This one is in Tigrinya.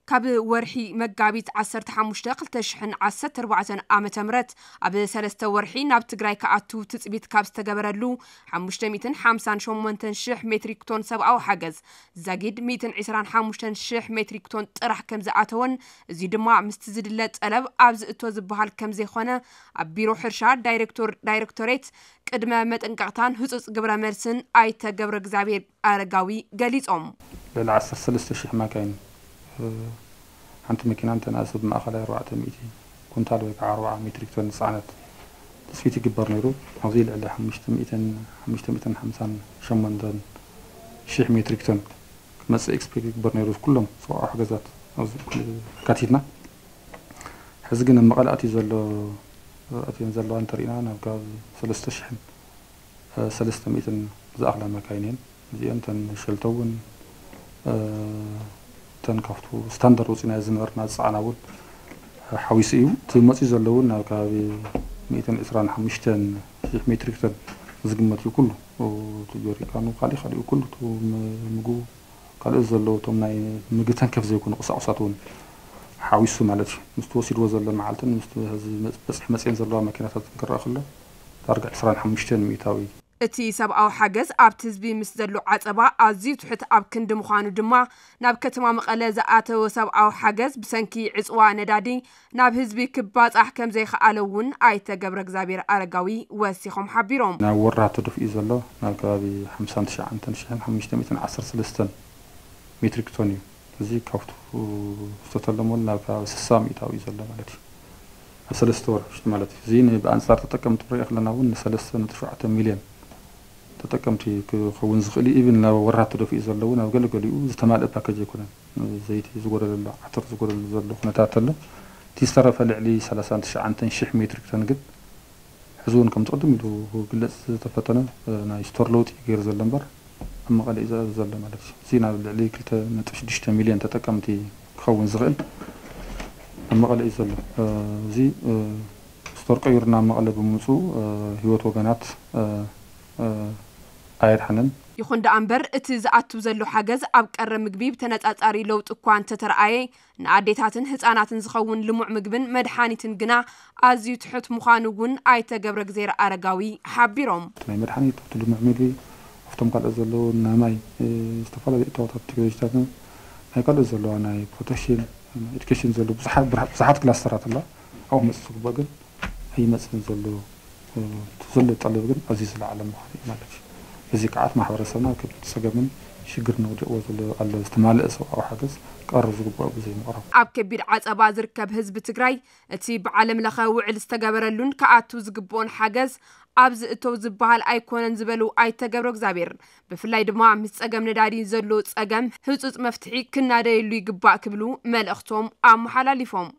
ካብ ወርሒ መጋቢት ዓሰርተ ሓሙሽተ ክልተ ሽሕን ዓሰርተ ኣርባዕተን ዓመተ ምህረት ኣብ ሰለስተ ወርሒ ናብ ትግራይ ክኣቱ ትጽቢት ካብ ዝተገበረሉ ሓሙሽተ ሚእትን ሓምሳን ሸሞንተን ሽሕ ሜትሪክ ቶን ሰብኣዊ ሓገዝ ዛጊድ ሚእትን ዕስራን ሓሙሽተን ሽሕ ሜትሪክ ቶን ጥራሕ ከም ዝኣተወን፣ እዚ ድማ ምስቲ ዝድለ ጠለብ ኣብ ዝእቶ ዝበሃል ከም ዘይኮነ ኣብ ቢሮ ሕርሻ ዳይሬክቶር ዳይሬክቶሬት ቅድመ መጠንቀቕታን ህጹጽ ግብረ መልስን ኣይተ ገብረ እግዚኣብሔር ኣረጋዊ ገሊጾም። ልዕሊ ዓሰርተ ሰለስተ ሽሕ ማካይን ሓንቲ መኪና እንተንኣሰ ብማእኸላይ ኣርባዕተ ሚእቲ ኩንታል ወይ ከዓ ኣርባዓ ሜትሪክ ቶን ዝፀዓነት ትፅቢት ይግበር ነይሩ። ኣብዚ ልዕሊ ሓሙሽተ ሚእትን ሓሙሽተ ሚእትን ሓምሳን ሸሞንተን ሽሕ ሜትሪክ ቶን ክመፅእ ኤክስፔክት ይግበር ነይሩ። ኩሎም ሰብኣዊ ሓገዛት ኣብዚ ኣካቲትና ሕዚ ግን ኣብ መቐለ ኣትዩ ዘሎ ኣትየን ዘለዋ እንተሪእና ናብ ከባቢ ሰለስተ ሽሕን ሰለስተ ሚእትን ዝኣኽላ መካይን እየን። እዚአን እተን ሸልተው እውን እተን ካብቱ ስታንዳርድ ወፂናዮ ዝነበርና ዝፀዓና እውን ሓዊሱ እዩ። እቲ መፂኡ ዘሎ እውን ናብ ከባቢ ሚእትን ዕስራን ሓሙሽተን ሽሕ ሜትሪክ ቶን ዝግመት እዩ። ኩሉ እቲ ጆሪካኑ ካሊእ ካሊኡ ኩሉ እቲ ምግቡ ካልኦት ዘለዉ እቶም ናይ ምግቢ ተንከፍ ዘይኮኑ ቁሳቁሳት እውን ሓዊሱ ማለት እዩ። ምስቲ ወሲድዎ ዘሎ መዓልትን ምስቲ ሕዚ በፅሒ መፅኤን ዘለዋ መኪናታት ክረኣ ከሎ ዳርጋ ዕስራን ሓሙሽተን ሚእታዊ እቲ ሰብኣዊ ሓገዝ ኣብቲ ህዝቢ ምስ ዘሎ ዓፀባ ኣዝዩ ትሑት ኣብ ክንዲ ምዃኑ ድማ ናብ ከተማ መቐለ ዝኣተወ ሰብኣዊ ሓገዝ ብሰንኪ ዕፅዋ ነዳዲ ናብ ህዝቢ ክባፃሕ ከም ዘይከኣለ እውን ኣይተ ገብረ እግዚኣብሔር ኣረጋዊ ወሲኾም ሓቢሮም። ናብ ወራ ተደፊኡ ዘሎ ናብ ከባቢ ሓምሳን ትሽዓን ሽሕን ሓሙሽተ ሚእትን ዓሰርተ ሰለስተን ሜትሪክ ቶን እዩ። እዚ ካብቱ ዝተተለመሉ ናብ ከባቢ ስሳ ሚእታዊ እዩ ዘሎ ማለት እዩ። ኣብ ሰለስተ ወር ውሽጢ ማለት እዩ። እዚ ብኣንፃር ተጠቀምቲ ክንሪኦ ከለና እውን ንሰለስተ ነጥቢ ሸውዓተ ሚልዮን ተጠቀምቲ ክኸውን ዝኽእል እዩ። ኢቭን ናብ ወራት ተደፊኡ ዘሎ እውን ኣብ ገለገሊኡ ዝተማልአ ፓኬጅ ኣይኮነን። ዘይቲ ዝጎደለሉ፣ ዓተር ዝጎደለሉ ዘሎ ኩነታት ኣሎ። እቲ ዝተረፈ ልዕሊ ሰላሳን ትሽዓን ሽሕ ሜትሪክ ቶን ግን ሕዚ እውን ከምቲ ቅድም ኢሉ ክግለፅ ዝተፈተነ ናይ ስቶር ለውጢ ገይሩ ዘሎ እምበር ኣብ መቐለ እዩ ዘሎ ማለት እዩ። እዚ ናብ ልዕሊ ክልተ ነጥቢ ሽዱሽተ ሚልዮን ተጠቀምቲ ክኸውን ዝኽእል ኣብ መቐለ እዩ ዘሎ። እዚ ስቶር ቀይሩ ናብ መቐለ ብምምፅኡ ህይወት ወገናት ኣየድሓነን። ይኹን ደኣ እምበር እቲ ዝኣቱ ዘሎ ሓገዝ ኣብ ቀረብ ምግቢ ብተነፃፃሪ ለውጢ እኳ እንተተረኣየ ንኣዴታትን ህፃናትን ዝኸውን ልሙዕ ምግብን መድሓኒትን ግና ኣዝዩ ትሑት ምዃኑ እውን ኣይተ ገብረእግዜር ኣረጋዊ ሓቢሮም። ናይ መድሓኒት ኣብቲ ልሙዕ ምግቢ ኣብቶም ካልኦት ዘለዉ ናይ ማይ ዝተፈላለዩ እታወታት ቴክኖሎጂታትን ናይ ካልኦት ዘለዋ ናይ ፕሮቴክሽን ኤዱኬሽን ዘሎ ብዙሓት ክላስተራት ኣላ ኣብኡ ክመፅእ ዝግባእ ግን ኣይመፅእን ዘሎ ዘሎ ጠለብ ግን ኣዝዩ ዝለዓለ ምዃኑ እዩ ማለት እዩ። በዚ ከዓ እቲ ማሕበረሰብና ኣብ ከቢድ ፀገምን ሽግርን ወዲቕዎ ዘሎ ኣሎ ዝተማልአ ሰብኣዊ ሓገዝ ክቐርብ ዝግባእ ብዘይምቕራቡ። ኣብ ከቢድ ዓፀባ ዝርከብ ህዝቢ ትግራይ እቲ ብዓለም ለኸ ውዕል ዝተገበረሉን ክኣቱ ዝግብኦን ሓገዝ ኣብ ዝእተው ዝበሃል ኣይኮነን ዝበሉ ኣይተ ገብረእግዚኣብሔር ብፍላይ ድማ ምስ ፀገም ነዳዲ ዘሎ ፀገም ህፁፅ መፍትሒ ክናደየሉ ይግባእ ክብሉ መልእኽቶም ኣመሓላሊፎም።